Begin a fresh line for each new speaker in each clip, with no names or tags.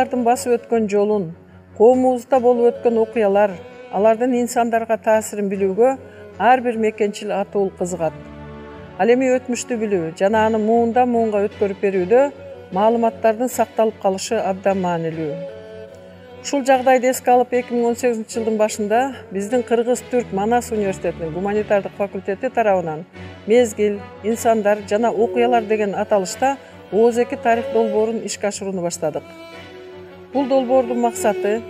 окуялардын басып өткөн жолун, коомубузда болуп өткөн окуялар, алардын инсандарга таасирин билүүгө ар бир мекенчил атуул кызыгат. Ал эми өтмүштү билүү жана аны муундан муунга өткөрүп берүүдө маалыматтардын сакталып калышы абдан маанилүү. Ушул жагдайды эске алып 2018-жылдын башында биздин Кыргыз-Түрк Манас университетинин гуманитардык факультети тарабынан мезгил, инсандар жана окуялар деген аталышта ооз-2 тарых долбоорун ишке ашырууну баштадык. Бул долбоордун максаты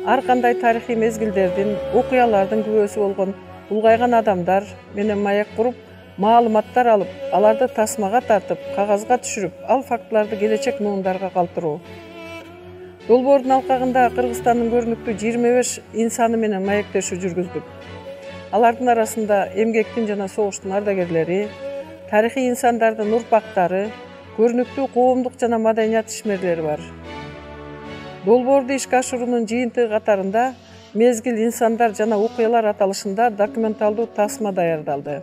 ар кандай тарыхый мезгилдердин, окуялардын күбөсү болгон улгайган адамдар менен маек куруп, маалыматтар алып, аларды тасмага тартып, кагазга түшүрүп, ал фактыларды келечек муундарга калтыруу. Долбоордун алкагында Кыргызстандын көрүнүктүү 25 инсаны менен маектешүү жүргүздүк. Алардын арасында эмгектин жана согуштун ардагерлери, тарыхый инсандардын урпактары, көрүнүктүү коомдук жана маданият ишмерлери бар. Долбоорду ишке ашыруунун жыйынтыгы катарында мезгил, инсандар жана окуялар аталышында документалдуу тасма даярдалды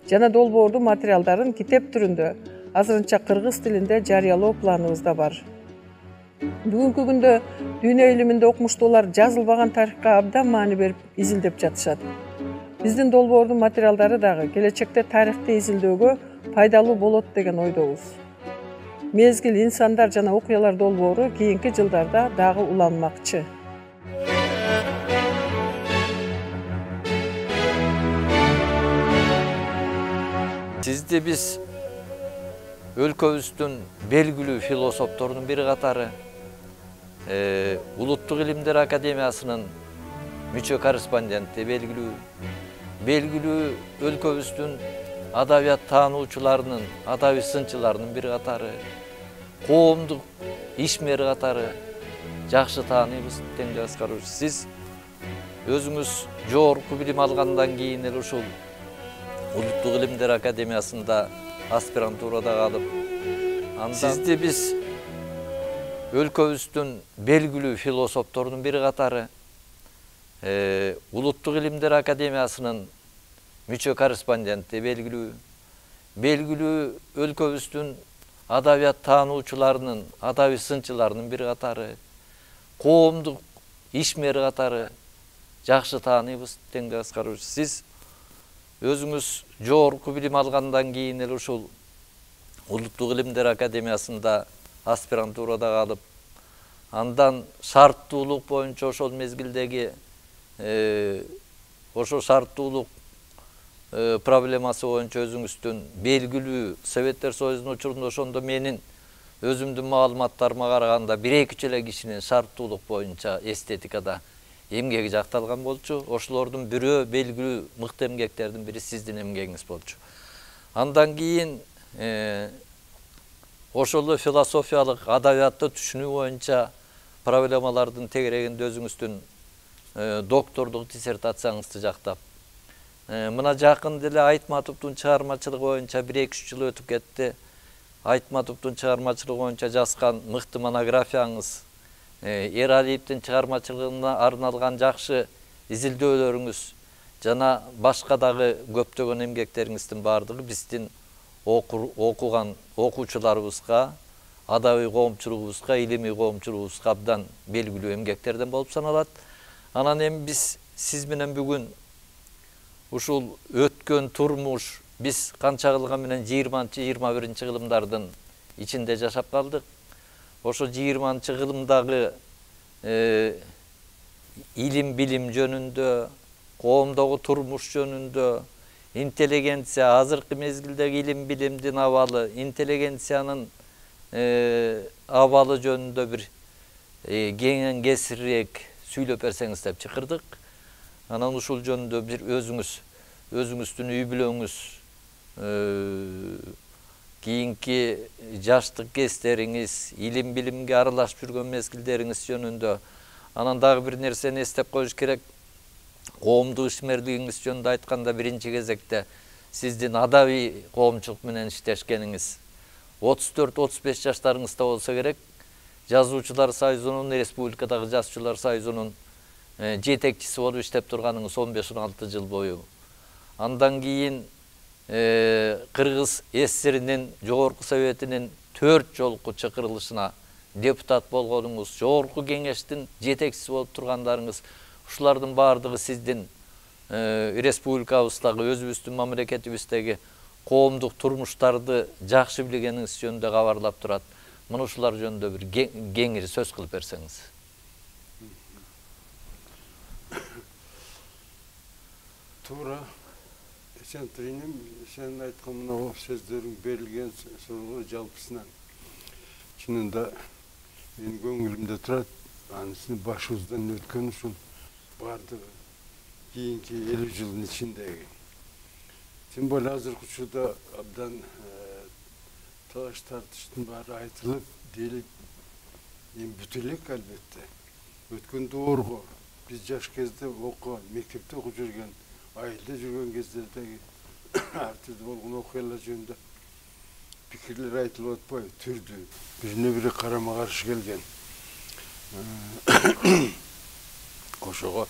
жана долбоордун материалдарын китеп түрүндө азырынча кыргыз тилинде жарыялоо планыбызда бар. Бүгүнкү күндө дүйнө илиминде окумуштуулар жазылбаган тарыхка абдан маани берип изилдеп жатышат. Биздин долбоордун материалдары дагы келечекте тарыхты изилдөөгө пайдалуу болот деген ойдобуз. Мезгил, инсандар жана окуялар долбоору кийинки жылдарда дагы уланмакчы.
Сизди биз өлкөбүздүн белгилүү философторунун бири катары Улуттук илимдер академиясынын мүчө корреспонденти, белгилүү өлкөбүздүн адабият таануучуларынын, адабий сынчыларынын бири катары, коомдук ишмер катары жакшы тааныйбыз. Теңдей Аскарович, сиз өзүңүз жогорку билим алгандан кийин эле ушул Улуттук илимдер академиясында аспирантурада калып, сизди биз өлкөбүздүн белгилүү философторунун бири катары Улуттук илимдер академиясынын мүчө корреспонденти, белгилүү өлкөбүздүн адабият таануучуларынын, адабий сынчыларынын бири катары, коомдук ишмер катары жакшы тааныйбыз. Теңдей Аскарович, сиз өзүңүз жогорку билим алгандан кийин эле ушул Улуттук илимдер академиясында аспирантурада калып, андан шарттуулук боюнча ошол мезгилдеги ошо шарттуулук проблемасы боюнча өзүңүздүн белгилүү Советтер Союзунун учурунда ошондо менин өзүмдүн маалыматтарыма караганда 1-2 эле кишинин шарттуулук боюнча эстетикада эмгеги жакталган болчу. Ошолордун бирөө белгилүү мыкты эмгектердин бири сиздин эмгегиңиз болчу. Андан кийин ошол философиялык адабиятты түшүнүү боюнча проблемалардын тегерегинде өзүңүздүн доктордук диссертацияңызды жактап, мына жакын деле Айтматовдун чыгармачылыгы боюнча 1-2 жыл өтүп кетти. Айтматовдун чыгармачылыгы боюнча жазган мыкты монографияңыз, Эралиевдин чыгармачылыгына арналган жакшы изилдөөлөрүңүз жана башка дагы көптөгөн эмгектериңиздин бардыгы биздин окуган окуучуларыбызга, адабий коомчулугубузга, илимий коомчулугубузга абдан белгилүү эмгектерден болуп саналат. Анан эми биз сиз менен бүгүн ушул өткөн турмуш, биз канча кылган менен 20-21 кылымдардын ичинде жашап калдык. Ошо 20 кылымдагы илим билим жөнүндө, коомдогу турмуш жөнүндө, интеллигенция, азыркы мезгилдеги илим билимдин абалы, интеллигенциянын абалы жөнүндө бир кеңен кесирээк сүйлөп берсеңиз деп чакырдык. Анан ушул жөнүндө бир өзүңүздүн үй бүлөңүз, кийинки жаштык кездериңиз, илим билимге аралашып жүргөн мезгилдериңиз жөнүндө, анан дагы бир нерсени эстеп коюш керек. Коомдук ишмерлигиңиз жөнүндө айтканда биринчи кезекте сиздин адабий коомчулук менен иштешкениңиз 34-35 жаштарыңызда болсо керек. Жазуучулар союзунун, республикадагы жазуучулар союзунун жетекчиси болуп иштеп турганыңыз 15-16 жыл бою. Андан кийин Кыргыз ССРинин жогорку советинин 4 жолку чакырылышына депутат болгонуңуз, жогорку кеңештин жетекчиси болуп тургандарыңыз, ушулардын баардыгы сиздин республикабыздагы, өзүбүздүн мамлекетибиздеги коомдук турмуштарды жакшы билгениңиз жөнүндө кабарлап турат. Мына ушулар жөнүндө бир кеңири сөз кылып берсеңиз.
Туура, Эсентириним, сен айткан мына сөздөрүң берилген суроо жалпысынан чынында менин көңүлүмдө турат. Анысını башыбыздан өткөн ушул бардыгы кийинки 50 жылдын ичиндеги. Тем более азыркы учурда абдан талаш тартыштын баары айтылып, делип, бүт элек албетте. Өткөн доорго биз жаш кезде окуган, мектепте окуп жүргөн, айылда жүргөн кездердеги ар түрдүү болгон окуялар жөнүндө пикирлер айтылып атпайбы, түрдүү, бирине бири карама каршы келген. Ошого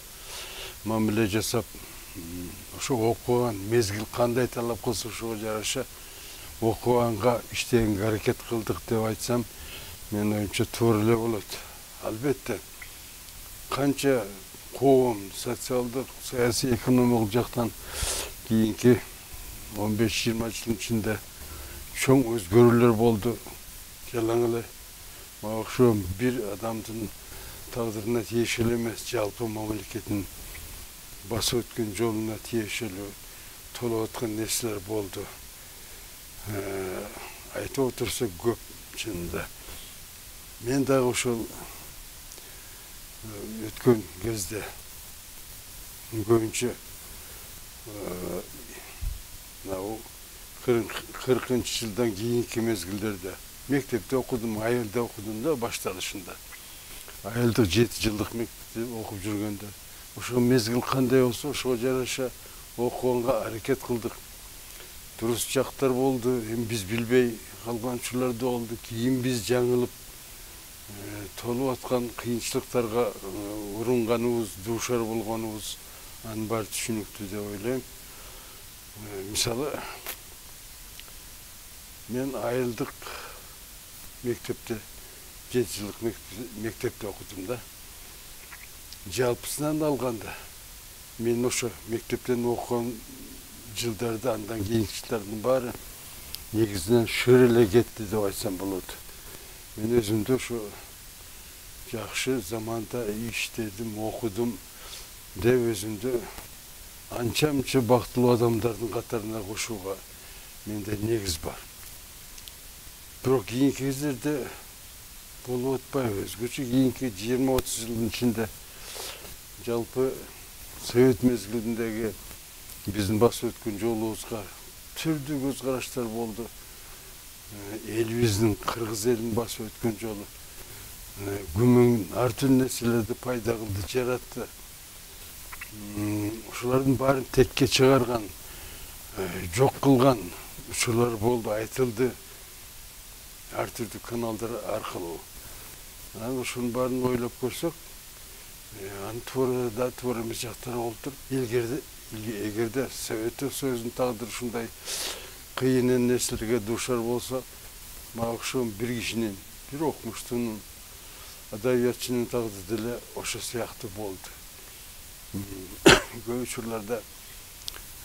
мамиле жасап, ошо окуган мезгил кандай талап кылса ошого жараша окуганга иштегенге аракет кылдык деп айтсам, менин оюмча туура эле болот. Албетте канча коом социалдык, саясий, экономикалык жактан кийинки 15-20 жылдын ичинде чоң өзгөрүүлөр болду. Жалаң эле мага окшогон бир адамдын тагдырына тиешелүү эмес, жалпы мамлекеттин басып өткөн жолуна тиешелүү толуп аткан нерселер болду. Айтып отурса көп чынында. Мен дагы ошол өткөн кезде көбүнчө 40 жылдан кийинки мезгилдерде мектепте окудум, айылда окудум да башталышында. Айылдык 7 жылдык мектепте окуп жүргөндө ошол мезгил кандай болсо ошого жараша окуганга аракет кылдык. Дурус жактар болду, эми биз билбей калган учурлар да болду. Кийин биз жаңылып толуп аткан кыйынчылыктарга урунганыбыз, дуушар болгонубуз анын баары түшүнүктүү деп ойлойм. Мисалы, мен айылдык мектепте 7 жылдык мектепте окудум да. Жалпысынан алганда мен ошо мектептен окуган жылдарда андан кийинки жылдардын баары негизинен шыр эле кетти деп айтсам болот. Мен өзүмдү ошо жакшы заманда иштедим, окудум деп өзүмдү анча-мынча бактылуу адамдардын катарына кошууга менде негиз бар. Бирок кийинки кездерде болуп атпайбы, өзгөчө кийинки 20-30 жылдын ичинде жалпы совет мезгилиндеги биздин басып өткөн жолубузга түрдүү көз караштар болду. Элибиздин кыргыз элин басып өткөн жолу күмөн ар түрдүү нерселерди пайда кылды, жаратты. Ошолордун баарын текке чыгарган, жок кылган учурлар болду, айтылды ар түрдүү каналдар аркылуу. Анан ошонун баарын ойлоп көрсөк, анын туура да туура эмес жактары болуп туруп, эгерде Советтик Союздун тагдыры ушундай кыйын нерселерге дуушар болсо, мага окшогон бир кишинин, бир окумуштуунун, адабиятчынын тагдыры деле ошо сыяктуу болду. Көп учурларда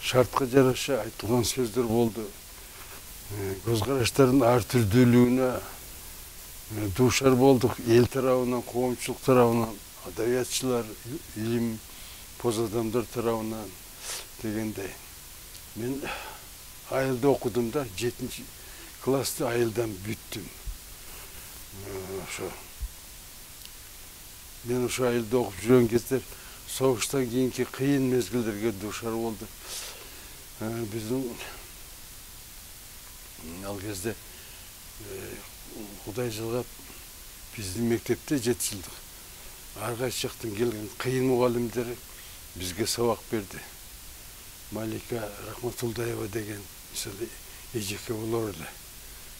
шартка жараша айтылган сөздөр болду. Көз караштардын ар түрдүүлүгүнө дуушар болдук. Эл тарабынан, коомчулук тарабынан, адабиятчылар, илим поз адамдар тарабынан дегендей. Мен айылда окудум да, 7-классты айылдан бүттүм. Мен ошо айылда окуп жүргөн кездер согуштан кийинки кыйын мезгилдерге дуушар болду. Биздин ал кезде Кудай жылгап биздин мектепте 7 жылдык ар кайсы жактан келген кыйын мугалимдер бизге сабак берди. Малика Рахматулдаева деген мисалы эжеке болор эле.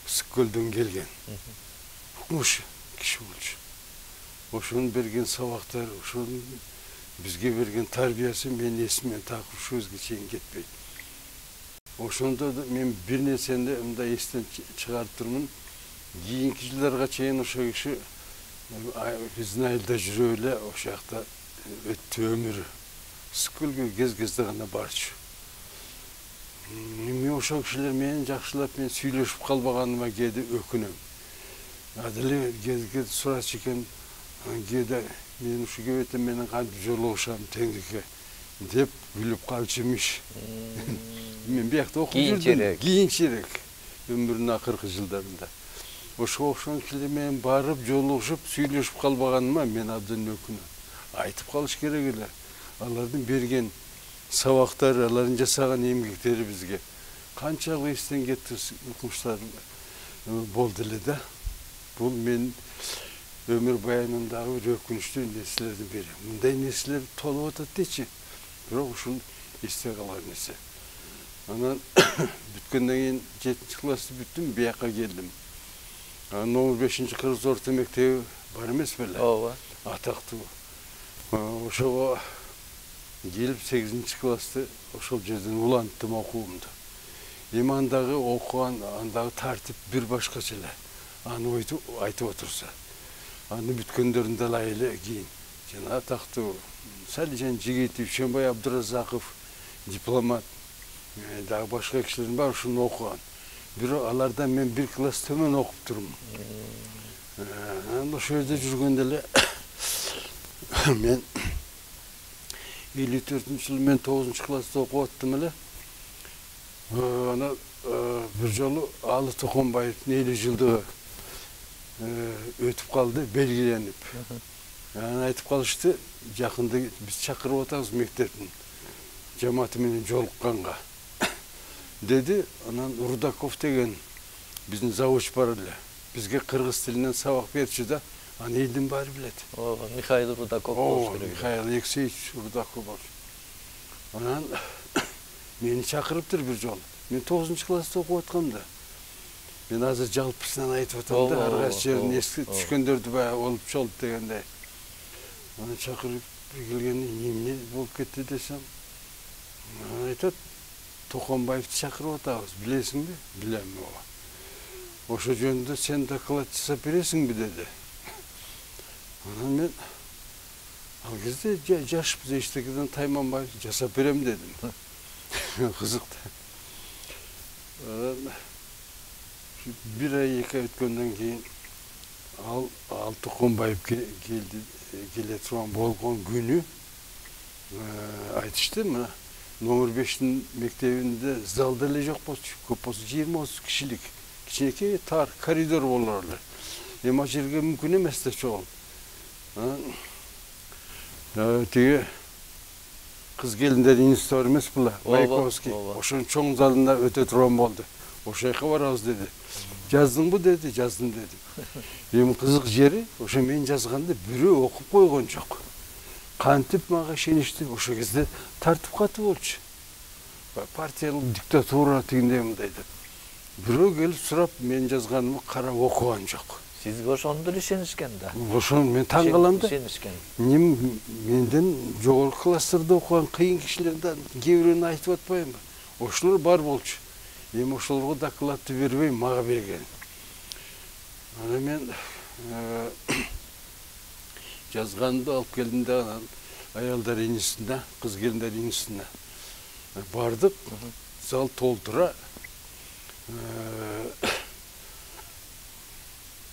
Ысык-Көлдөн келген. Укмуш киши болчу. Ошонун берген сабактары, ошонун бизге берген тарбиясы мен эсимден так ушул көзгө чейин кетпейт. Ошондо мен бир нерсени мындай эстен чыгарып турмун. кийинки жылдарга чейин ошо киши биздин айылда жүрүп эле ошол жакта өттү өмүрү. Ысык-көлгө кез-кезде гана барчу. Мен ошол кишилер менен жакшылап мен сүйлөшүп калбаганыма кээде өкүнөм. Деле кээде сурачу экен, кээде мен ушу кебете менен кантип жолугушам теңдикке деп күлүп калчу имиш. Мен биякта окуп жүрдүм. Кийинчерээк өмүрүнүн акыркы жылдарында. Ошого окшогон кишилер менен барып жолугушуп сүйлөшүп калбаганыма мен абдан өкүнөм. Айтып калыш керек эле. Алардын берген сабактары, алардын жасаган эмгектери бизге канчалык эстен кеткис укмуштар болду эле да. Бул мен өмүр баянымдагы бир өкүнүчтүү нерселердин бири. Мындай нерселер толуп атат дечи. Бирок ушул эсте калган нерсе. Анан бүткөндөн кийин 7-классты бүттүм, бияка келдим. Номер 5-кыргыз орто мектеби бар эмес беле?
Ооба.
Атактуу. Ошого келип 8-классты ошол жерден уланттым окуумду. Эми андагы окуган, андагы тартип бир башкача эле. Аны айтып отурса. Аны бүткөндөрүн далай эле кийин. Жана атактуу Салижан Жигитов, Шембай Абдуразаков, дипломат, дагы башка кишилердин баары ушуну окуган. Бирок алардан мен бир класс төмөн окуп турмун. Анан ошол жерде жүргөндө эле мен 54-жылы мен 9-класста окуп аттым эле. Анан бир жолу Алы Токонбаевдин 50 жылдыгы өтүп калды, белгиленип. Анан айтып калышты, жакында биз чакырып атабыз мектептин жамааты менен жолукканга. Деди, анан Рудаков деген биздин завуч бар эле. Бизге кыргыз тилинен сабак берчү да, аны элдин баары билет.
Ооба, Михаил Рудаков болуш керек.
Михаил Алексеевич Рудаков болчу. Анан мени чакырыптыр бир жолу. Мен 9-класста окуп аткам да. Мен азыр жалпысынан айтып атам да, ар кайсы жерин эске түшкөндөрдү баягы болуп чолуп дегендей. Аны чакырып келгенде эмне болуп кетти десем, айтат, Токонбаевди чакырып атабыз, билесиңби? Билем ооба. Ошо жөнүндө сен доклад жасап бересиңби деди. Анан мен ал кезде жашпыз, эчтекеден тайманбай жасап берем дедим. Кызык да. Бир ай 2 ай өткөндөн кийин ал Токонбаев келе турган болгон күнү айтышты, мына номер 5-тин мектебинде залда эле жок болчу. Көп болсо 20-30 кишилик кичинекей тар коридор болор эле. Эми ал жерге мүмкүн эмес да чогул. Тиги кыз келиндердин институты бар эмес була, Маяковский. Ошонун чоң залында өтө турган болду. Ошол жака барабыз деди. Жаздыңбы деди, жаздым дедим. Эми кызык жери, ошо мен жазганда бирөө окуп койгон жок. Кантип мага ишеништи, ошол кезде тартип катуу болчу. Партиялык диктатура тигиндей мындай деп. Бирөө келип сурап, мен жазганымды карап окуган жок.
Сизге ошондо эле ишенишкен да.
Ошону мен таң калам да.
Ишенишкен.
Менден жогорку класстарда окуган кыйын кишилерден кээ бирөөнү айтып атпаймынбы? Ошолор бар болчу. Эми ошолорго докладты бербей мага берген. Аны мен жазганды алып келдим да, анан аялдар институтуна, кыз келиндер институтуна бардык. Зал толтура.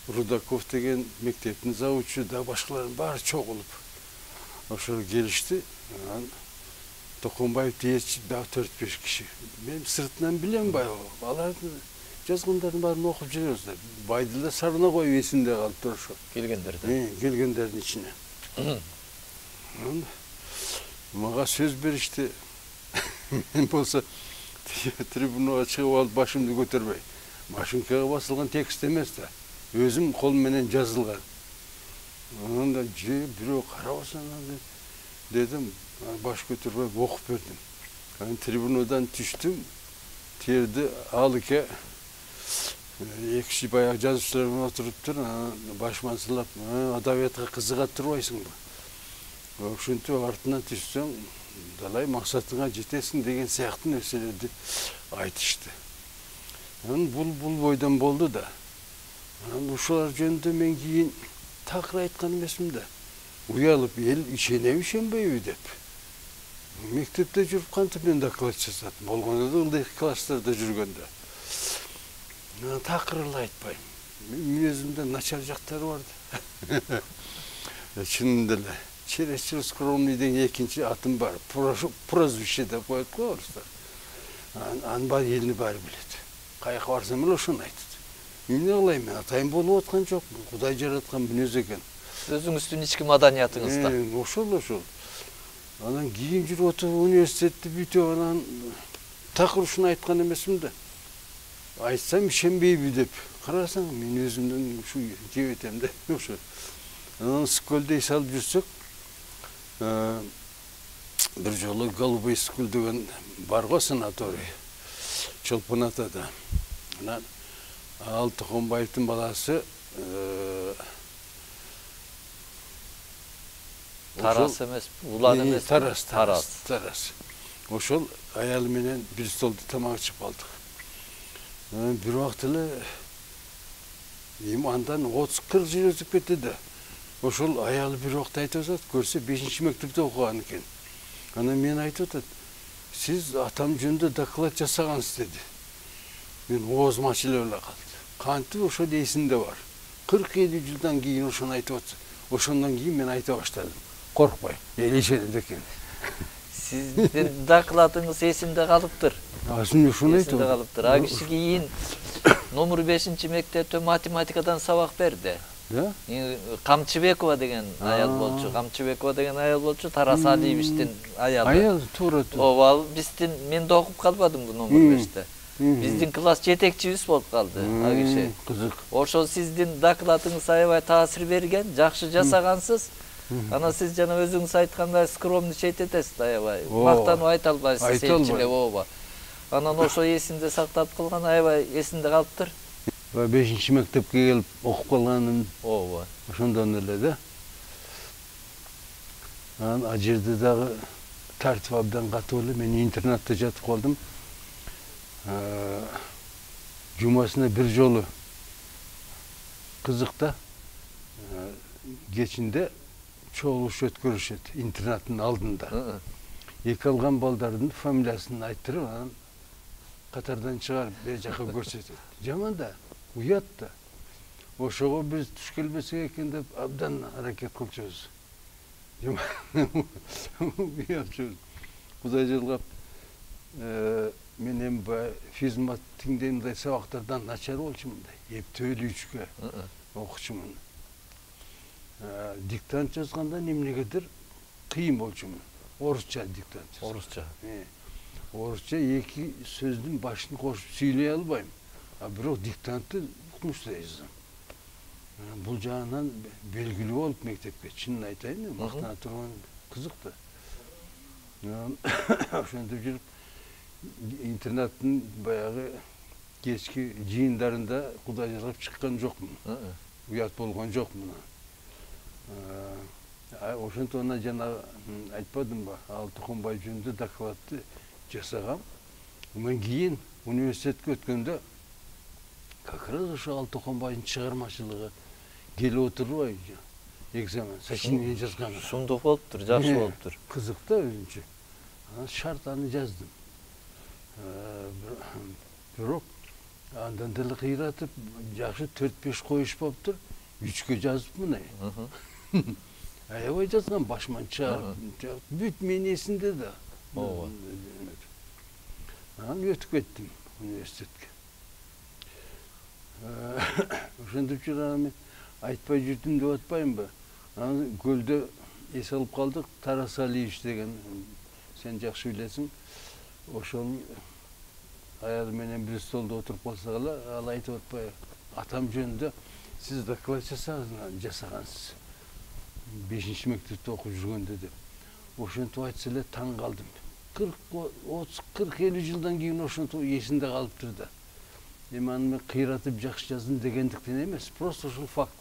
Рудаков деген мектептин завучу да башкалардын баары чогулуп ошол келишти. Анан Токонбаевди ээрчип дагы 4-5 киши. Мен сыртынан билем баягы. Алардын жазгандарын баарын окуп жүрөбүз да. Байдыла Сарына коюп эсимде калыптыр ошо.
Келгендерден.
Келгендердин ичине. Мага сөз беришти. Мен болсо трибунага чыгып алып башымды көтөрбөй. Машинкага басылган текст эмес да. Өзүм кол менен жазылган. Анан да бирөө карабаса дедим, баш көтөрбөй окуп бердим. Анан трибунадан түштүм. Терди Алыке эки киши баягы жазуучулар менен отуруптур. Башыман сылап, адабиятка кызыгат турбайсыңбы? Ошентип артынан түшсөң, далай максатыңа жетесиң деген сыяктуу нерселерди айтышты. Анан бул бойдон болду да. Анан ушулар жөнүндө мен кийин такыр айткан эмесмин да. Уялып эл ишенеби ишенбейби деп. Мектепте жүрүп кантип мен доклад жасадым. Болгондо да ылдый класстарда жүргөндө. Такыр эле айтпайм. Мүнөзүмдө начар жактары бар да. Чынында эле чересчур скромный деген экинчи атым бар. Прозвище деп коет го орустар. Анын элдин баары билет. Каяка барсам эле ошону айтат. Эмне кылайм мен, атайын болуп аткан жокмун. Кудай жараткан мүнөз экен.
Өзүңүздүн ички маданиятыңызда.
Ошол. Анан кийин жүрүп отуруп университетти бүтүп анан такыр ушуну айткан эмесмин да. Айтсам ишенбейби деп. Карасаң мен өзүмдөн ушу жебетем да. Ошо. Анан скөлдө иш алып жүрсөк, бир жолу Голубой скул деген бар го санаторий. Чолпон атада. Анан Алтыконбаевдин баласы
Тарас эмес, Улан эмес.
Тарас. Ошол аялы менен бир столдо тамак ичип калдык. Бир убакыт эле андан 30-40 жыл өтүп кетти да. Ошол аялы бир убакыт айтып атат, көрсө 5-мектепте окуган экен. Анан мен айтып атат, сиз атам жөнүндө доклад жасагансыз деди. Мен оозум ачылып эле калды. Кантип ошол эсимде бар. 40-50 жылдан кийин ошону айтып атса, ошондон кийин мен айта баштадым. Коркпой, эл ишенет экен.
Сиздин докладыңыз эсимде калыптыр.
Ошону айтып.
Эсимде калыптыр. А киши кийин номер 5-мектепте математикадан сабак берди. Камчыбекова деген аял болчу. Камчыбекова деген аял болчу. Тарас Алиевичтин аялы.
Аял туура.
Ооба, биздин мен да окуп калбадым бу номер 5-те. Биздин класс жетекчибиз болуп калды а киши.
Кызык.
Ошол сиздин докладыңыз аябай таасир берген, жакшы жасагансыз. Ана сиз жана өзүңүз айткандай скромничать этесиз аябай. Мактанып айта албайсыз элчилеп, ооба. Анан ошо эсимде сактап калган, аябай эсимде калыптыр.
5-мектепке келип окуп калганым.
Ооба.
Ошондон эле да. Анан ал жерде дагы тартип абдан катуу эле. Мен интернатта жатып калдым. Жумасына бир жолу кызык да. Кечинде чогулуш өткөрүшөт интернаттын алдында. Эки алган балдардын фамилиясын айттырып, анан катардан чыгарып бер жака көрсөтөт. Жаман да, уят да. Ошого биз туш келбесек экен деп абдан аракет кылчубуз. Уятчубуз. Кудай жалгап, мен эми физмат тиңдей мындай сабактардан начар болчумун да. Эптөөлүү 3-кө окучумун. Диктант жазганда эмнегедир кыйын болчумун. Орусча диктант.
Орусча.
Орусча эки сөздүн башын кошуп сүйлөй албайм. А бирок диктантты укмуштуу жазам. Бул жагынан белгилүү болуп мектепке, чынын айтайын, мактана турган кызык да. Ошентип жүрүп интернаттын баягы кечки жыйындарында Кудай жалгап чыккан жокмун. Уят болгон жокмун. Ошентип жана айтпадымбы, Алтыконбаев жөнүндө докладты жасагам. Мен кийин университетке өткөндө как раз ошо Алтыконбаевдин чыгармачылыгы келип отурбайбы? Экзамен, сочинение жазган.
Сумдуу болуптур, жакшы болуптур.
Кызык да өзүнчө. Анан шарт аны жаздым. Бирок андан деле кыйратып, жакшы 4-5 коюшпаптыр. 3-кө жазыпмын. Аябай жазган, башман чыгарып. Бүт мен эсимде да.
Ооба.
Анан өтүп кеттим университетке. Ошентип жүрөм, мен айтпай жүрдүм деп атпаймынбы? Анан көлдө эс алып калдык, Тарас Алиевич деген, сен жакшы билесиң. Ошол аял менен бир столдо отуруп калсак эле, ал айтып атпайбы? Атам жөнүндө сиз доклад жасагансыз. 5-мектепте окуп жүргөндө деп. Ошентип айтса эле таң калдым. 40-50 жылдан кийин ошентип эсимде калыптыр да. Эми аны мен кыйратып жакшы жаздым дегендиктен эмес, просто ушул факт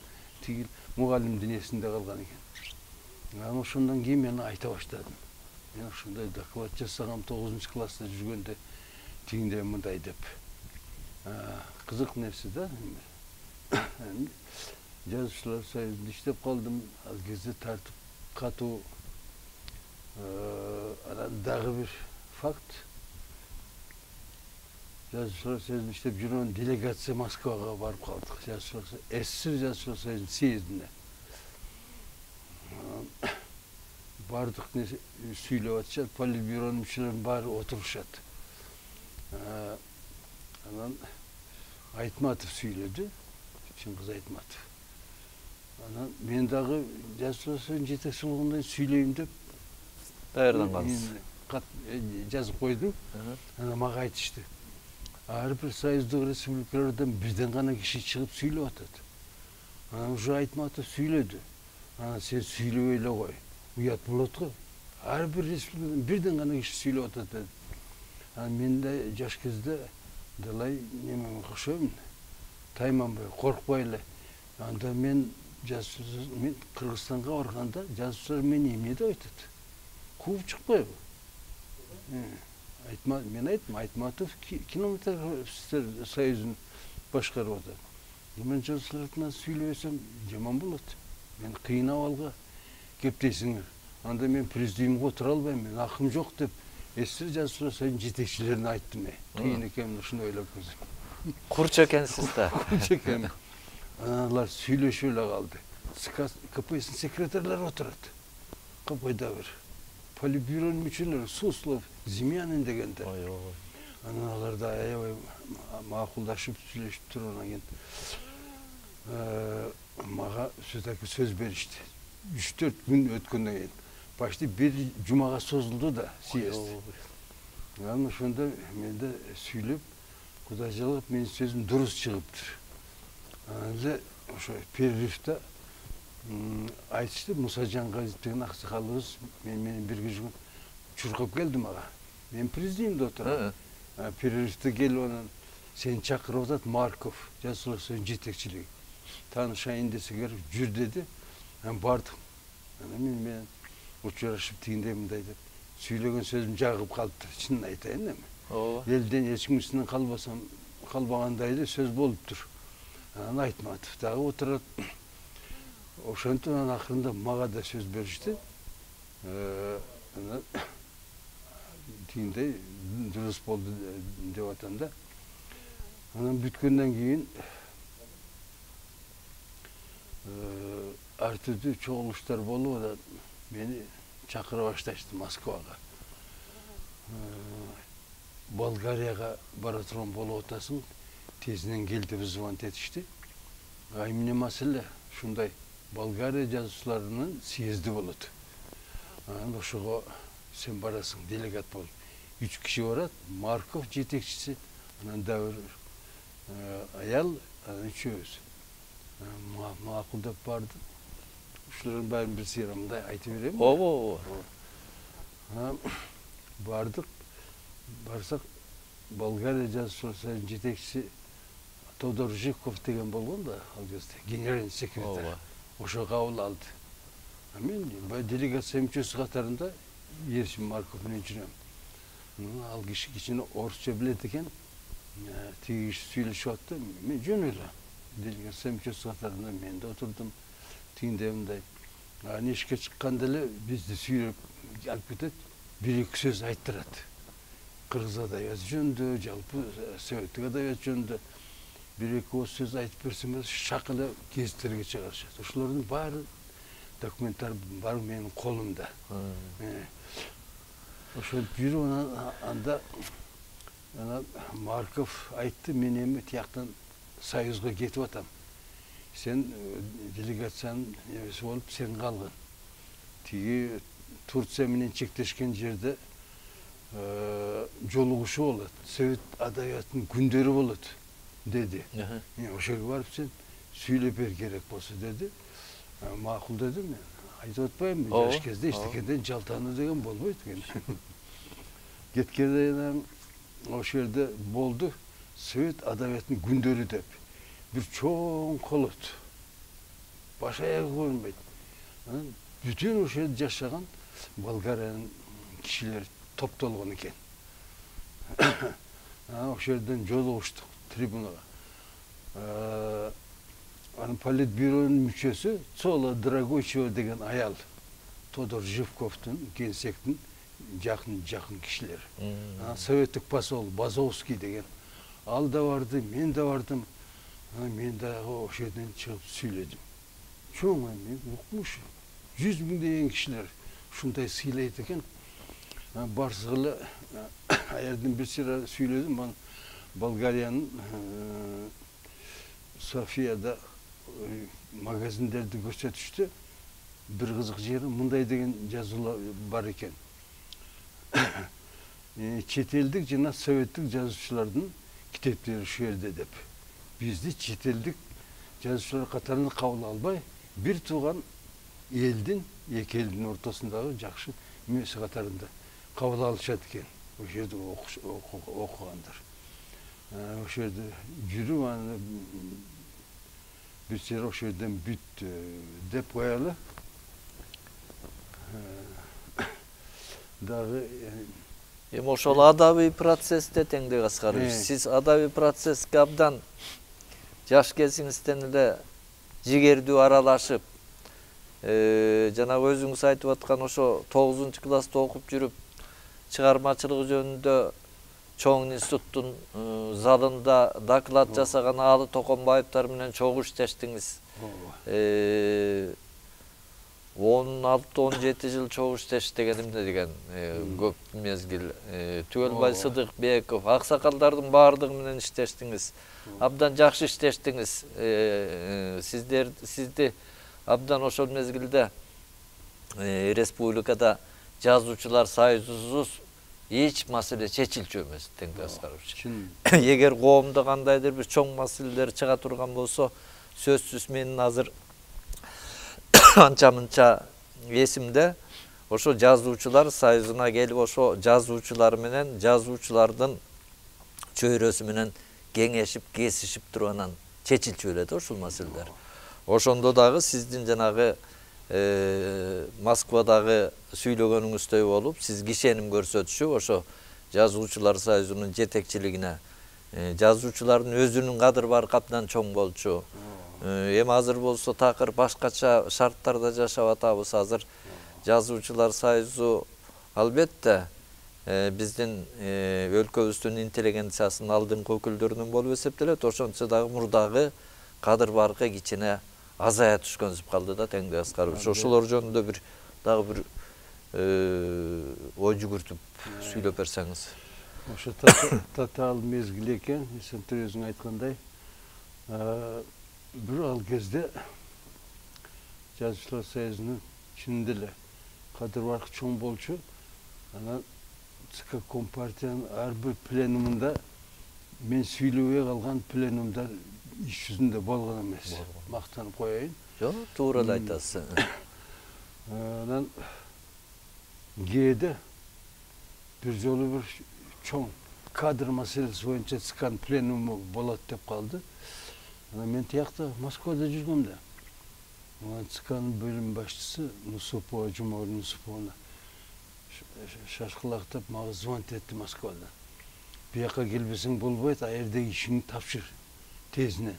тигил мугалимдин эсинде калган экен. Анан ошондон кийин мен айта баштадым. Мен ушундай доклад жасагам 9-класста жүргөндө тигиндей мындай деп. Кызык нерсе да. Жазушылар союзунда иштеп калдым. Ал кезде тартип катуу. Анан дагы бир факт. Жазушылар союзунда иштеп жүргөн делегация Москвага барып калдык. СССР жазушылар союзунун съездине. Бардык сүйлөп атышат, политбюронун мүчөлөрүнүн баары отурушат. Анан Айтматов сүйлөдү, Чыңгыз Айтматов. Анан мен дагы жазушулар союзунун жетекчи болгондон сүйлөйм деп
даярдангансыз.
Кат жазып койдум. Анан мага айтышты. Ар бир союздук республикалардан бирден гана киши чыгып сүйлөп атат. Анан уже Айтматов сүйлөдү. Анан сен сүйлөбөй эле кой. Уят болот го. Ар бир республикадан бирден гана киши сүйлөп атат деди. Анан мен да жаш кезде далай неме окшойм. Тайманбай, коркпой эле. Анда мен Кыргызстанга барганда жазушылар мени эмне деп айтат? Кууп чыкпайбы? Мен айттым, Айтматов кинематографисттер союзун башкарып атат. Мен жазушулардан сүйлөбөсөм жаман болот. Мен кыйын абалга кептейсиңер. Анда мен президиумга отура албайм, мен акым жок деп СССР жазушулар союзунун жетекчилерине айттым. Кыйын экенин ушуну ойлоп көрсөм.
Курч экенсиз да.
Курч экен. Алар сүйлөшүп эле калды. КПССтин секретарлары отурат. Капайда бир политбюронун мүчөлөрү Суслов, Зимянин дегендер. Анан алар да аябай макулдашып сүйлөшүп туруп анан кийин мага сөз беришти. 3-4 күн өткөндөн кийин почти бир жумага созулду да съезд. Анан ошондо мен да сүйлөп, Кудай жалгап менин сөзүм дурус чыгыптыр. Анан эле ошо перерывда айтышты, Мусажан Газиев деген аксакалыбыз менен бирге жүргөн чуркап келди мага. Мен президиумда отурам. Перерывда келип анан сени чакырып атат Марков, жазушулар союзунун жетекчилиги. Таанышайын десеңер жүр деди. Анан бардым. Анан мен учурашып тигиндей мындай деп сүйлөгөн сөзүм жагып калыптыр. Чынын айтайын эми. Элден эч кимсинен калбагандай эле сөз болуптур. Анан Айтматов дагы отурат. Ошентип анан акырында мага да сөз беришти. Анан тигиндей дурус болду деп атам да. Анан бүткөндөн кийин ар түрдүү чогулуштар болуп атат. Мени чакыра башташты Москвага. Болгарияга бара турган болуп атасың, тезинен кел деп звонить этишти. Эмне маселе? Ушундай Болгария жазушуларынын съезди болот. Анан ошого сен барасың, делегат болуп. 3 киши барат, Марков жетекчиси, анан да бир аял, анан үчөөбүз. Макул деп бардым. Ушулардын баарын бир сыйрамында айтып берем. Бардык. Барсак Болгария жазушулар союзунун жетекчиси Тодор Жиков деген болгон да, ал кезде генеральный секретарь. Ошо кабыл алды. Мен делегация мүчөсү катарында Ершин Марков менен жүрөм. Ал киши кичине орусча билет экен. Тиги киши сүйлөшүп атты. Мен жөн эле делегация мүчөсү катарында мен да отурдум. Тигиндей мындай. Анан эшикке чыкканда эле бизди сүйлөп алып кетет. 1-2 сөз айттырат. Кыргыз адабияты жөнүндө, жалпы советтик адабият жөнүндө 1-2 сөз айтып берсеңер, шак эле гезиттерге чыгарышат. Ошолордун баары документтер бар менин колумда. Ошентип жүрүп анда Марков айтты, мен эми тияктан союзга кетип атам. Сен делегациянын эмеси болуп сен калгын. Тиги Турция менен чектешкен жерде жолугушуу болот. Совет адабиятынын күндөрү болот деди. Ошо жерге барып сен сүйлөп бер керек болсо деди. Макул дедим мен. Айтып атпаймынбы, жаш кезде эчтекеден жалтануу деген болбойт экен. Кеткенде ошол жерде болду Совет адабиятынын күндөрү деп. Бир чоң колот. Баш аягы көрүнбөйт. Бүтүн ошол жерде жашаган Болгариянын кишилери топтолгон экен. Ошол жерден жолугуштук трибунага. анын политбюронун мүчөсү Цола Драгочева деген аял, Тодор Живковдун Генсектин жакын кишилери. Советтик посол Базовский деген ал да барды, мен да бардым. Мен дагы ошол жерден чыгып сүйлөдүм. Чоң мен укмуш 100 миңдеген кишилер ушундай сыйлайт экен. Барсыгыла аярдын бир сыйра сүйлөдүм. Мен Болгариянын Софияда магазиндерди көрсөтүштү. Бир кызык жери мындай деген жазуулар бар экен. Чет элдик жана советтик жазуучулардын китептери ушул жерде деп. Бизди чет элдик жазуучулар катарына кабыл албай, бир тууган элдин, эки элдин ортосундагы жакшы мүнөзү катарында кабыл алышат экен. Ошол жерде окугандар. Ошол жерде жүрүп аны бир сыйра ошол жерден бүттү деп коелу. Дагы
эми ошол адабий процессте Теңдек Аскарович, сиз адабий процесске абдан жаш кезиңизден эле жигердүү аралашып, жанагы өзүңүз айтып аткан ошо 9-класста окуп жүрүп, чыгармачылык жөнүндө чоң институттун залында доклад жасаган Алы Токонбаевтар менен чогуу иштештиңиз. 16-17 жыл чогуу иштештиңиз эмне деген көп мезгил. Түгөлбай Сыдыкбеков, аксакалдардын баардыгы менен иштештиңиз. Абдан жакшы иштештиңиз. Сизди абдан ошол мезгилде республикада жазуучулар союзусуз эч маселе чечилчү эмес, Теңдек Аскарович. Эгер коомдо кандайдыр бир чоң маселелер чыга турган болсо, сөзсүз менин азыр анча-мынча эсимде, ошо жазуучулар союзуна келип, ошо жазуучулар менен жазуучулардын чөйрөсү менен кеңешип, кесишип турганан чечилчү эле да ушул маселелер. Ошондо дагы сиздин жанагы Москвадагы сүйлөгөнүңүздөй болуп, сиз кишеним көрсөтүшүп, ошо жазуучулар союзунун жетекчилигине, жазуучулардын өзүнүн кадыр баркы абдан чоң болчу. Эми азыр болсо такыр башкача шарттарда жашап атабыз. Азыр жазуучулар союзу албетте биздин өлкөбүздүн интеллигенциясынын алдыңкы өкүлдөрүнөн болуп эсептелет. Ошончо дагы мурдагы кадыр баркы кичине азая түшкөнсүп калды да, Теңдек Аскарович. Ошолор жөнүндө дагы бир ой жүгүртүп сүйлөп берсеңиз.
Ошо татаал мезгил экен, сен өзүң айткандай. Бир ал кезде жазуучулар союзунун чынында эле кадыр баркы чоң болчу. Анан ЦК Компартиянын ар бир пленумунда мен сүйлөбөй калган пленумдар иш жүзүндө болгон эмес. Мактанып коеюн.
Жок, туура эле айтасыз.
Анан кээде бир жолу бир чоң кадр маселеси боюнча ЦКнын пленуму болот деп калды. Мен тиякта Москвада жүргөм да. ЦКнын бөлүм башчысы Нусупова, Жумагүл Нусуповна шашкылактап мага звонить этти Москвадан. Бияка келбесең болбойт, аердеги ишиңди тапшыр тезинен.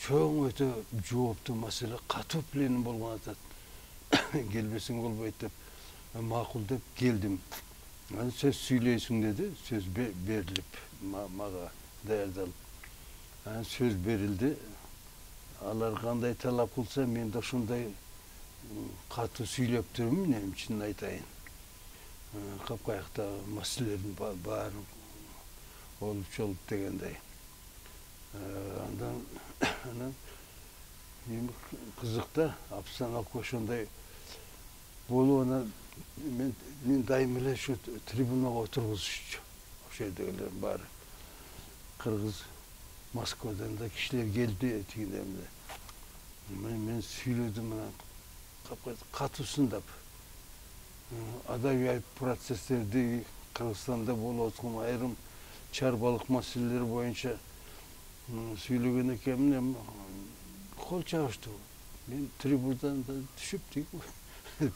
Чоң өтө жооптуу маселе, катуу пленум болгон атат. Келбесең болбойт деп, макул деп келдим. Анан сөз сүйлөйсүң деди, сөз берилип мага даярдалып. Сөз берилди. Алар кандай талап кылса, мен да ошондой катуу сүйлөп турмун, эми чынын айтайын. Капкаякта маселелердин баарын болуп чолуп дегендей. Анан эми кызыкта обстановка ошондой болууна мен дайым эле ушу трибунага отургузушчу. Ошол жердегилер баары кыргыз, Москвадан да кишилер келди тигиндемде. Мен сүйлөдүм, катуусундап. Адабий процесстерди Кыргызстанда болуп аткан айрым чарбалык маселелер боюнча сүйлөгөн экенмин, эми кол чабыштуу. Мен трибунадан түшүп тиги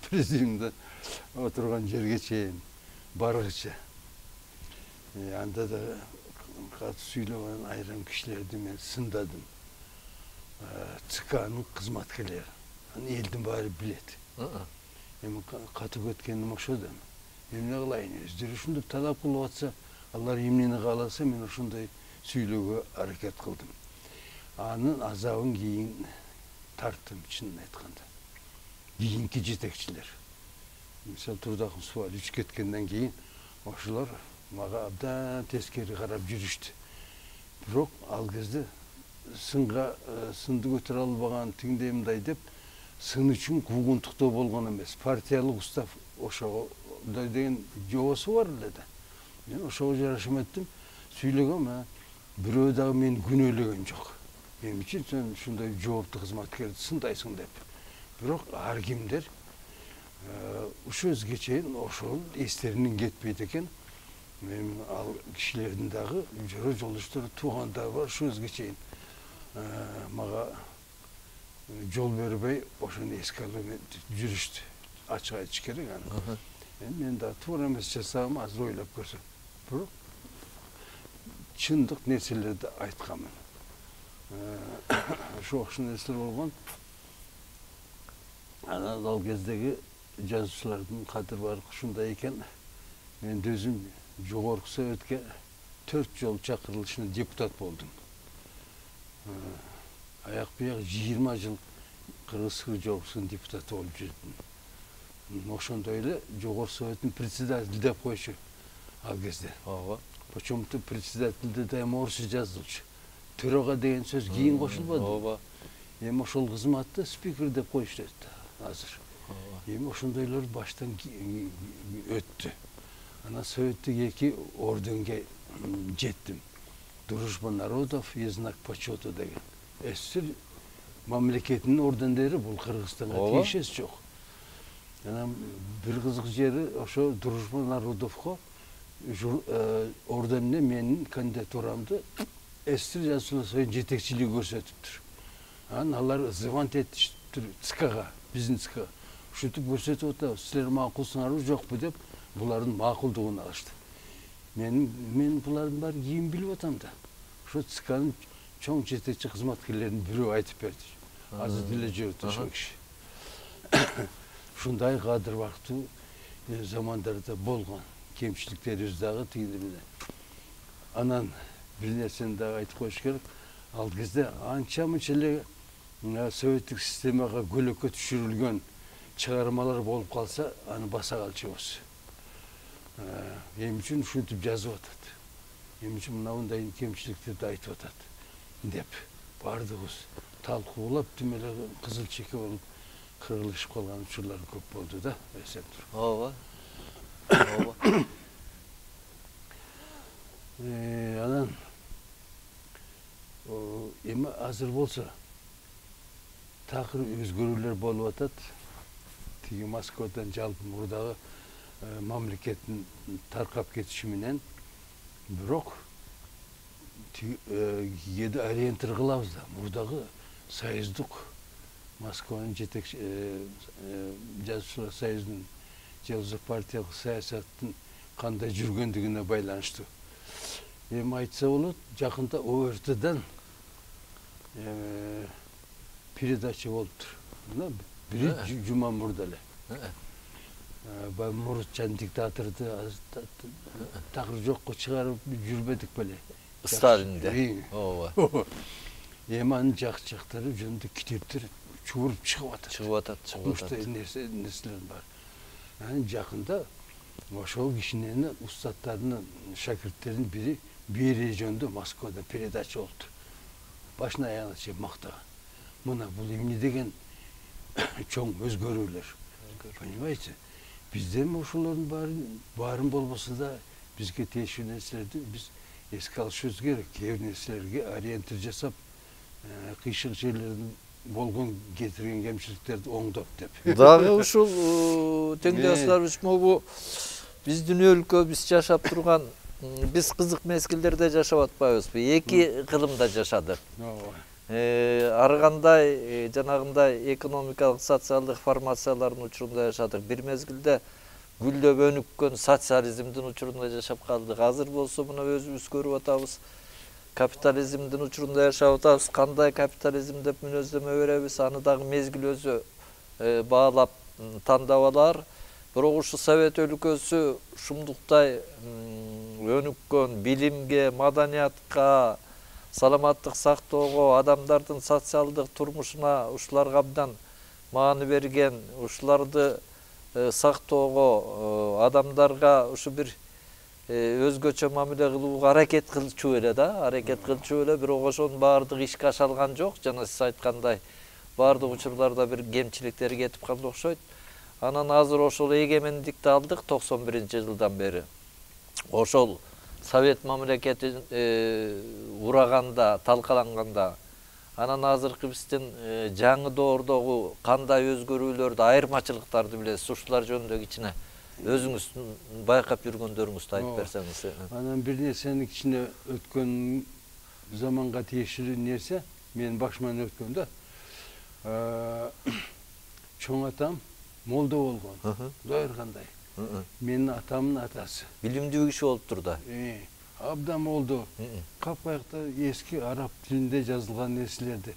президиумда отурган жерге чейин баргыча. Анда да катуу сүйлөгөн айрым кишилерди мен сындадым. ЦКнын кызматкерлери. Аны элдин баары билет. Эми катып өткөнүм ошо да. Эмне кылайын? Өздөрү ушинтип талап кылып атса, алар эмнени кааласа, мен ошондой сүйлөөгө аракет кылдым. Анын азабын кийин тарттым, чынын айтканда. Кийинки жетекчилер. Мисалы Турдакын Субал үч кеткенден кийин ошолор мага абдан тескери карап жүрүштү. Бирок ал кезде сынды көтөрө албаган тигиндей мындай деп сын үчүн куугунтуктоо болгон эмес. Партиялык устав ошого деген жоосу бар эле да. Мен ошого жараша эметtim. Сүйлөгөм, бирөө дагы мени күнөөлөгөн жок. Мен үчүн сен ушундай жооптуу кызматкерди сындайсың деп. Бирок ар кимдер ушу өзгө чейин ошол эстеринен кетпейт экен. Мен ал кишилердин дагы жөрө жолдоштору туугандары бар, ушу өзгө чейин мага жол бербей ошону эске алып жүрүштү. Ачык айтыш керек аны. Мен да туура эмес жасагам, азыр ойлоп көрсөм. Бирок чындык нерселерди айтканмын. Ошо окшош нерселер болгон. Анан ал кездеги жазуучулардын кадыр баркы ушундай экен. Мен өзүм жогорку Советке 4 жолу чакырылышына депутат болдум. Аяк бияк 20 жыл Кыргыз СЖО-сунун депутаты болуп жүрдүм. Ошондой эле Жогорку Советтин председатели деп койчу ал кезде. Ооба. Почему-то председательде да орусча жазылчу. Төрага деген сөз кийин кошулбаду. Ооба. Эми ошол кызматты спикер деп коюшту азыр. Эми ошондойлор баштан өттү. Анан Советтик 2 орденге жеттим. Дружба народов и знак почета деген. СССР мамлекетинин ордендери бул Кыргызстанга тиешеси жок. Анан бир кызык жери ошо Дружба народовго орденине менин кандидатурамды СССР жазуучулар союзунун жетекчилиги көрсөтүптүр. Анан алар звонить этиптир ЦКга, биздин ЦКга. Ушинтип көрсөтүп атабыз, силер макулсуңарбы жокпу деп булардын макулдугун алышты. Мен булардын баары кийин билип атам да. Ошо ЦКнын чоң жетекчи кызматкерлеринин бирөө айтып берди. Азыр деле жүрөт ошол киши. Ушундай кадыр бактуу замандарда болгон. Кемчиликтерибиз дагы тигиндей. Анан бир нерсени дагы айтып коюш керек. Ал кезде анча-мынча эле советтик системага көлөккө түшүрүлгөн чыгармалар болуп калса, аны баса калчубуз. Эми үчүн ушинтип жазып атат. Эми үчүн мындай кемчиликтерди айтып атат деп бардыгыбыз талкуулап тим эле кызыл чеке болуп кыргылышып калган учурлар көп болду да, эсен туруп.
Ооба.
Анан эми азыр болсо такыр өзгөрүүлөр болуп атат. Тиги Москвадан жалпы мурдагы мамлекеттин таркап кетиши менен, бирок кээде ориентир кылабыз да. Мурдагы союздук Москванын жетекчи жазуучулар союзунун же партиялык саясаттын кандай жүргөндүгүнө байланыштуу. Эми айтса болот, жакында ОРТдан передача болуптур. Мына бир жума мурда эле. Мурутчан диктаторду такыр жокко чыгарып жүрбөдүк беле.
Сталинде. Ооба.
Эми анын жактары жөнүндө китептер чуруп чыгып атат. Ушундай нерселер бар. Анан жакында ошол кишинин устаттарынын шакирттеринин бири Берия жөнүндө Москвада передача болуптур. Башына аягына чейин мактаган. Мына бул эмне деген чоң өзгөрүүлөр. Понимаете? Бизден ошолордун баарын болбосо да бизге тиешелүү нерселерди биз эске алышыбыз керек. Кээ бир нерселерге ориентир жасап, кыйшык жерлердин болгон кетирген кемчиликтерди оңдоп деп.
Дагы ушул теңдөөчүлөр могу биздин өлкө, биз жашап турган, биз кызык мезгилдерде жашап атпайбызбы? Эки кылымда жашадык. Ары кандай жанагындай экономикалык, социалдык формациялардын учурунда жашадык. Бир мезгилде гүлдөп өнүккөн социализмдин учурунда жашап калдык. Азыр болсо мына өзүбүз көрүп атабыз. капитализмдин учурунда жашап атабыз. Кандай капитализм деп мүнөздөмө беребиз, аны дагы мезгил өзү баалап тандап алар. Бирок ушу Совет өлкөсү ушундуктай өнүккөн билимге, маданиятка, саламаттык сактоого, адамдардын социалдык турмушуна ушуларга абдан маани берген, ушуларды сактоого, адамдарга ушу бир өзгөчө мамиле кылууга аракет кылчу эле бирок ошонун баардыгы ишке ашалган жок. Жана сиз айткандай баардык учурларда бир кемчиликтери кетип калды окшойт. Анан азыр ошол эгемендикти алдык 91-жылдан бери. Ошол Совет мамлекети ураганда, талкаланганда, анан азыркы биздин жаңы доордогу кандай өзгөрүүлөрдү, айырмачылыктарды билесиз. Ушулар жөнүндө кичине өзүңүз байкап жүргөндөрүңүздү айтып берсеңиз.
Анан бир нерсенин кичине өткөн заманга тиешелүү нерсе, менин башыман өткөн да. Чоң атам молдо болгон, Зоир кандай. Менин атамдын атасы.
Билимдүү киши болуптур да.
Абдан молдо. Капкаякта эски араб тилинде жазылган нерселерди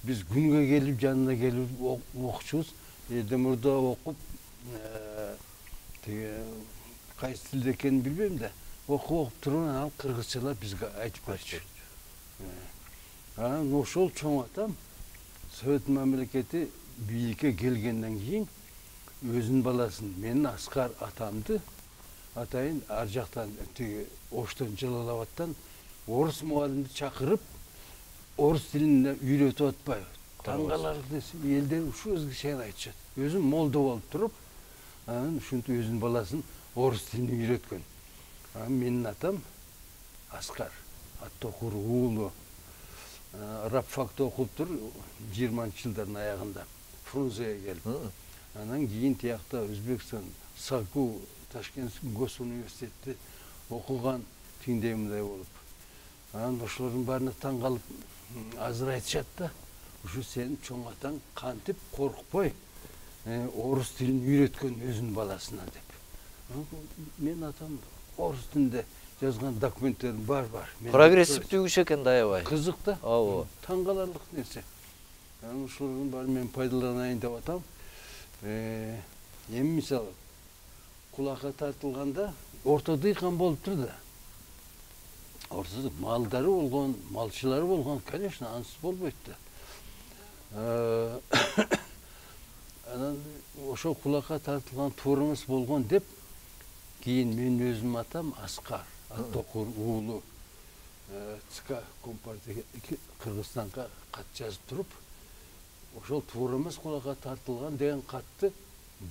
биз күнгө келип, жанына келип окучубуз. Мурда окуп, кайсы тилде экенин билбейм да. Окуп туруп, анан кыргызчалап бизге айтып берчү. Анан ошол чоң атам Совет мамлекети бийликке келгенден кийин өзүнүн баласын, менин Аскар атамды атайын ар жактан Оштон, Жалалабадтан орус мугалимди чакырып, орус тилин үйрөтүп атпайбы? Таң каларлык нерсе, элдер ушу өзгөчө айтышат. Өзүм молдо болуп туруп, анан ушинтип өзүнүн баласын орус тилин үйрөткөн. Анан менин атам Аскар, Аттокур уулу, рабфакты окуптур 20-жылдардын аягында, Фрунзеге келип. Анан кийин тиякта Өзбекстан, САКУ, Ташкент госуниверситетти окуган тиңдей мындай болуп. Анан ошолордун баарына таң калып, азыр айтышат да, ушу сенин чоң атаң кантип коркпой орус тилин үйрөткөн өзүнүн баласына деп. Менин атам орус тилинде жазган документтерим бар.
Прогрессивдүү киши экен да, аябай.
Кызык да.
Ооба.
Таң каларлык нерсе. Анан ушулардын баарын мен пайдаланайын деп атам. Эми мисалы кулакка тартылганда орто дыйкан болуптур да. Ортодо малдары болгон, малчылары болгон, конечно, ансыз болбойт да. Анан ошол кулакка тартылган туурамыз болгон деп, кийин менин өзүмдүн атам Аскар, Аттокур уулу ЦК Компартия Кыргызстанга кат жазып туруп, ошол туурамыз кулакка тартылган деген катты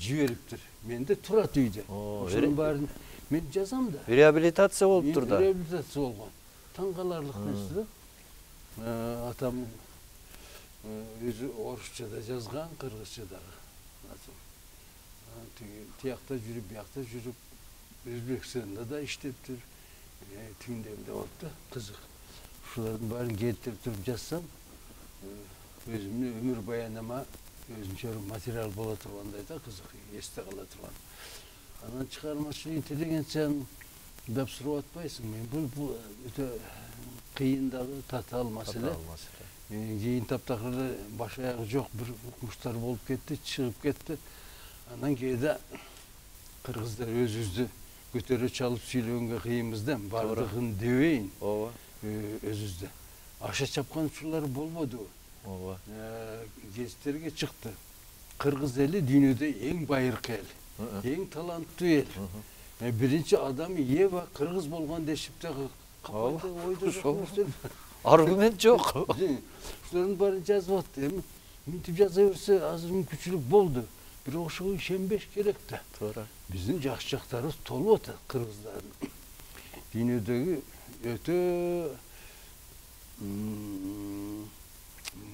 жибериптир. Менде турат үйдө. Ошонун баарын мен жазам да.
Реабилитация болуптур да.
Реабилитация болгон. Таң каларлык нерсе да. Атам өзү орусча да жазган, кыргызча дагы. Тиякта жүрүп, биякта жүрүп, Өзбекстанда да иштептир. Тиңдемде болуп да, кызык. Ушулардын баарын келтирип туруп жазсам, өзүмдүн өмүр баянама өзүнчө материал боло тургандай да, кызык, эсте кала турган. Анан чыгармачылык интеллигенцияны деп сурап атпайсың. Мен бул өтө кыйын дагы, татаал маселе. Кийин таптакыр баш аягы жок бир укмуштар болуп кетти, чыгып кетти. Анан кээде кыргыздар өзүбүздү көтөрө чалып сүйлөгөнгө кыйынбыз да, бардыгын дебейин. Ооба. Өзүбүздө аша чапкан учурлар болбодубу?
Ооба.
Гезиттерге чыкты. Кыргыз эли дүйнөдө эң байыркы эл, эң таланттуу эл. Биринчи адам Ева кыргыз болгон дешип дагы капайда ойдо жок.
Аргумент жок.
Ушулардын баарын жазып атты. Эми мынтип жаза берсе азыр мүмкүнчүлүк болду. Бирок ошого ишенбеш керек да.
Туура.
Биздин жакшы жактарыбыз толуп атат кыргыздардын. Дүйнөдөгү өтө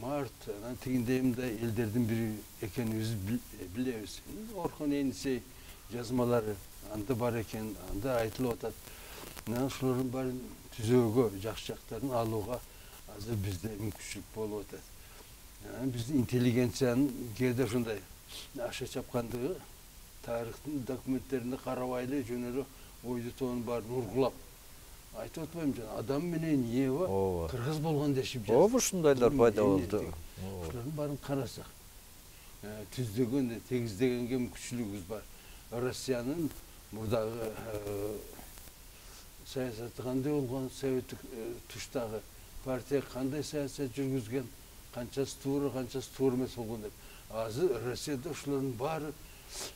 март, анан тигиндей мындай элдердин бири экенибизди билебиз. Орхон Енисей жазмалары анда бар экен, анда айтылып атат. Анан ушулардын баарын түзөөгө, жакшы жактарын алууга азыр бизде мүмкүнчүлүк болуп атат. Биздин интеллигенциянын кээде ушундай аша чапкандыгы тарыхтын документтерине карабайлы жөн эле ойду тоонун баарын ургулап айтып атпайм жана адам менен Ева
Ооба.
кыргыз болгон дешип
Ооба, ушундайлар пайда болду.
Ушулардын баарын карасак, түздөгөн, тегиздегенге мүмкүнчүлүгүбүз бар. Россиянын мурдагы саясаты кандай болгон, советтик туштагы партия кандай саясат жүргүзгөн, канчасы туура эмес болгон деп. Азыр Россияда ушулардын баары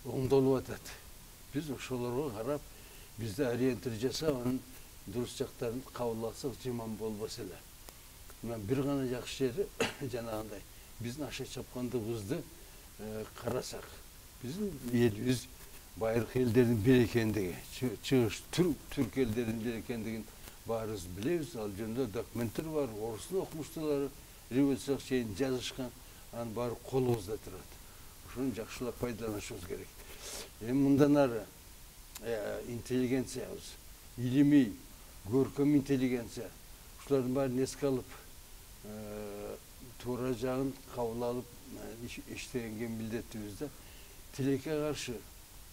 оңдолуп атат. Биз ошолорго карап, бизде ориентир жасап, анын дурус жактарын кабыл алсак жаман болбос эле. Мына бир гана жакшы жери жанагындай биздин аша чапкандыгыбызды карасак, биздин элибиз байыркы элдердин бири экендиги, чыгыш түрк элдеринин бири экендигин баарыбыз билебиз. Ал жөнүндө документтер бар, орустун окумуштуулары революцияга чейин жазышкан, анын баары колубузда турат. Ошону жакшылап пайдаланышыбыз керек. Эми мындан ары интеллигенциябыз, илимий, көркөм интеллигенция, ушулардын баарын эске алып, туура жагын кабыл алып иштегенге милдеттибиз да. Тилекке каршы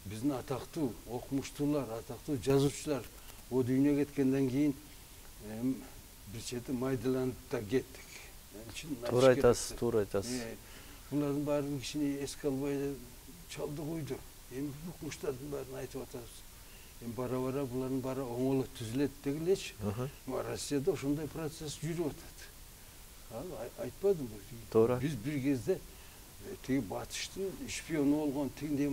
биздин атактуу окумуштуулар, атактуу жазуучулар о дүйнөгө кеткенден кийин бир чети майдаланып да кеттик.
Туура айтасыз, туура айтасыз.
Булардын баарын кичине эске албай чалды койду. Эми окумуштардын баарын айтып атабыз. Эми бара-бара булардын баары оңоло түзүлөт дегилечи. Россияда ошондой процесс жүрүп атат. Айтпадым
Туура.
Биз бир кезде тиги батыштын шпиону болгон, тигиндей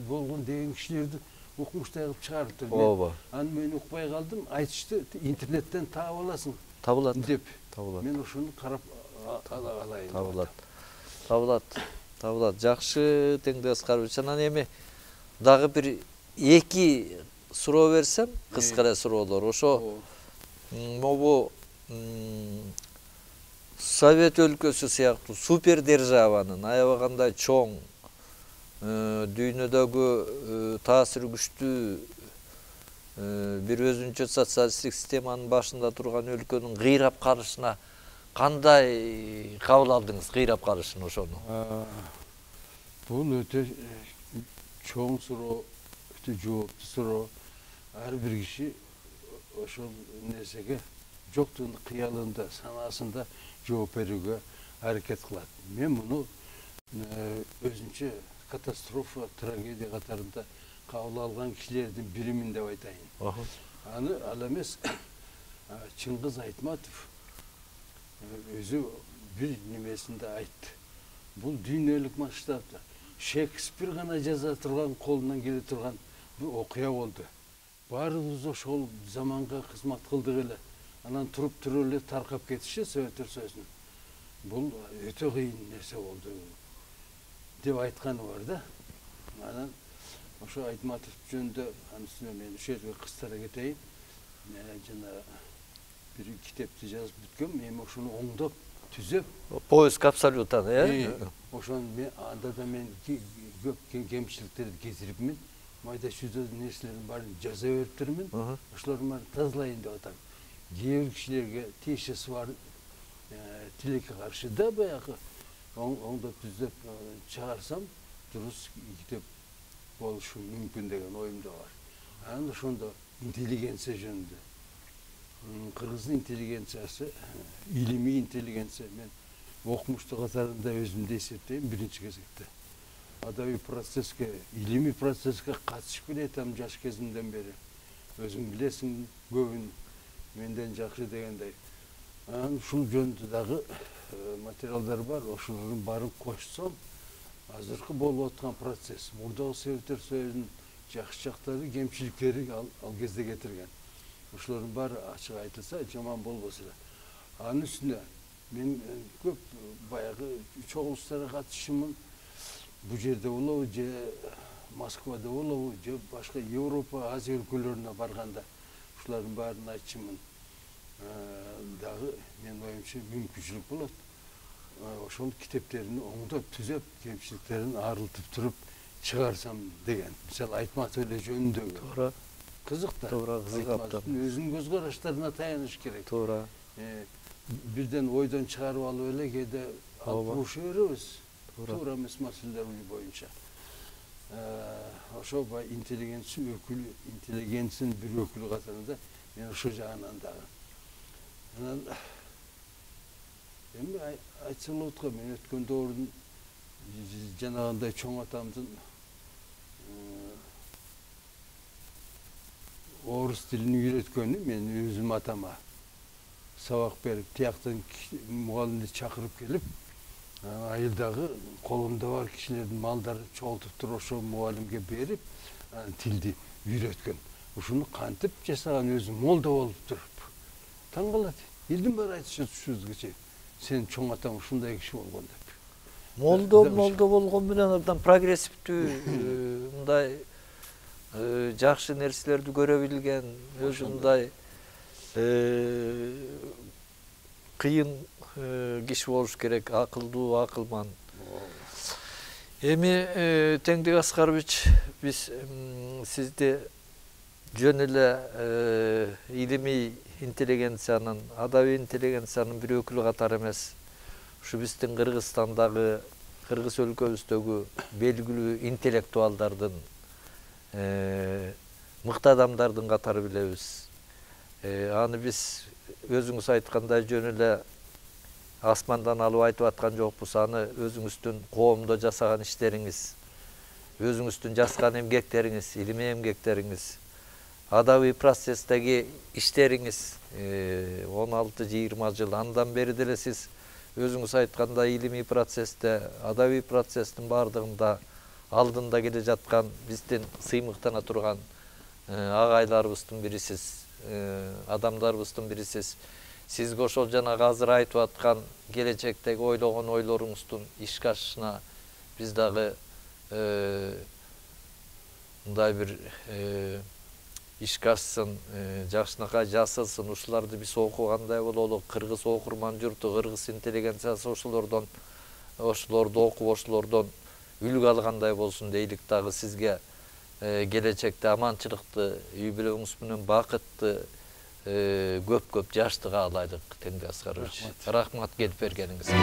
болгон деген кишилерди окумуштай кылып чыгарыптыр.
Ооба.
Аны мен укпай калдым, айтышты, интернеттен таап аласың.
Табылат.
Деп.
Табылат.
Мен ошону карап алайын.
Табылат. Жакшы теңдик Аскарович. Анан эми дагы бир 2 суроо берсем, кыска эле суроолор. Ошо могу Совет өлкөсү сыяктуу супер державанын аябагандай чоң, дүйнөдөгү таасири күчтүү бир өзүнчө социалисттик системанын башында турган өлкөнүн кыйрап калышына кандай кабыл алдыңыз, кыйрап калышын ошону?
Бул өтө чоң суроо, өтө жооптуу суроо. Ар бир киши ошол нерсеге жоктун кыялында, санаасында жооп берүүгө аракет кылат. Мен муну өзүнчө катастрофа, трагедия катарында кабыл алган кишилердин биримин деп айтайын. Аны ал эмес, Чыңгыз Айтматов өзү бир немесинде айтты. Бул дүйнөлүк масштабда Шекспир гана жаза турган, колунан келе турган бир окуя болду. Баарыбыз ошол заманга кызмат кылдык эле. Анан туруп эле таркап кетиши Советтер Союзунун. Бул өтө кыйын нерсе болду деп айтканы бар да. Анан ошо Айтматов жөнүндө анысына мен ошол жерге кыстара кетейин. Жана бир китепти жазып бүткөм, эми ошону оңдоп, түзөп.
Поиск абсолютан,
Ошону анда да мен көп кемчиликтерди кетирипмин. Майда чүйдө нерселердин баарын жаза бериптермин. Ошолордун баарын тазалайын деп атам. Кээ бир кишилерге тиешеси бар тилекке каршы да баягы оңдоп түзөп чыгарсам дурус китеп болушу мүмкүн деген оюмда бар. Анан ошондо интеллигенция жөнүндө. Кыргыздын интеллигенциясы, илимий интеллигенция, мен окумуштуу катарында өзүмдү эсептейм биринчи кезекте. Адабий процесске, илимий процесске катышып келатам жаш кезимден бери. Өзүң билесиң, көбүн менден жакшы дегендей. Анан ушул жөнүндө дагы материалдар бар. Ошолордун баарын кошсом, азыркы болуп аткан процесс, мурдагы Советтер Союзунун жакшы жактары, кемчиликтери ал кезде кетирген. Ошолордун баары ачык айтылса жаман болбос эле. Анын үстүнө мен көп баягы чогулуштарга катышымын. Бул жерде болобу, же Москвада болобу, же башка Европа, Азия өлкөлөрүнө барганда ушулардын баарын айтчымын. Дагы мен оюмча мүмкүнчүлүк болот. Ошол китептерин оңдоп, түзөп, кемчиликтерин арылтып туруп чыгарсам деген. Мисалы Айтматов эле жөнүндөгү.
Туура.
Кызык да.
Туура, кызык абдан.
Өзүнүн көз караштарына таяныш керек.
Туура.
Бирден ойдон чыгарып алып эле кээде алып буруша беребиз. Туура эмес маселелер боюнча. Ошо интеллигенция өкүлү, интеллигенциянын бир өкүлү катарында мен ушул жагынан дагы. Анан эми айтсам болот го, мен өткөн доордун жанагындай чоң атамдын орус тилин үйрөткөнү мен өзүм атама сабак берип, тияктан мугалимди чакырып келип, айылдагы колумда бар кишилердин малдарын чогултуп туруп ошол мугалимге берип, тилди үйрөткөн. Ушуну кантип жасаган өзү молда болуп туруп. Таң калат. Элдин баары айтышат ушубузга чейин. Сен чоң атаң ушундай киши болгон деп.
Молдо болгон менен абдан прогрессивдүү, мындай жакшы нерселерди көрө билген, өзүндай кыйын киши болуш керек, акылдуу, акылман. Эми Теңдик Аскарович, биз сизди жөн эле илимий интеллигенциянын, адабий интеллигенциянын бир өкүлү катары эмес, ушу биздин Кыргызстандагы, кыргыз өлкөбүздөгү белгилүү интеллектуалдардын, мыкты адамдардын катары билебиз. Аны биз өзүңүз айткандай жөн эле асмандан алып айтып аткан жокпуз. Аны өзүңүздүн коомдо жасаган иштериңиз, өзүңүздүн жазган эмгектериңиз, илимий эмгектериңиз, адабий процесстеги иштериңиз 16-20 жыл андан бери деле сиз өзүңүз айткандай илимий процессте, адабий процесстин бардыгында алдында келе жаткан биздин сыймыктана турган агайларыбыздын бирисиз, адамдарыбыздын бирисиз. Сизге ошол жанагы азыр айтып аткан келечектеги ойлогон ойлоруңуздун ишке ашышына биз дагы мындай бир ишке ашсын, жакшынакай жасалсын, ушуларды биз окугандай бололу. Кыргыз окурман журту, кыргыз интеллигенциясы ошолорду окуп, ошолордон үлгү алгандай болсун дейлик. Дагы сизге келечекте аманчылыкты, үй бүлөңүз менен бакытты, көп жаштык каалайлык, Теңдик Аскарович. Рахмат келип бергениңизге.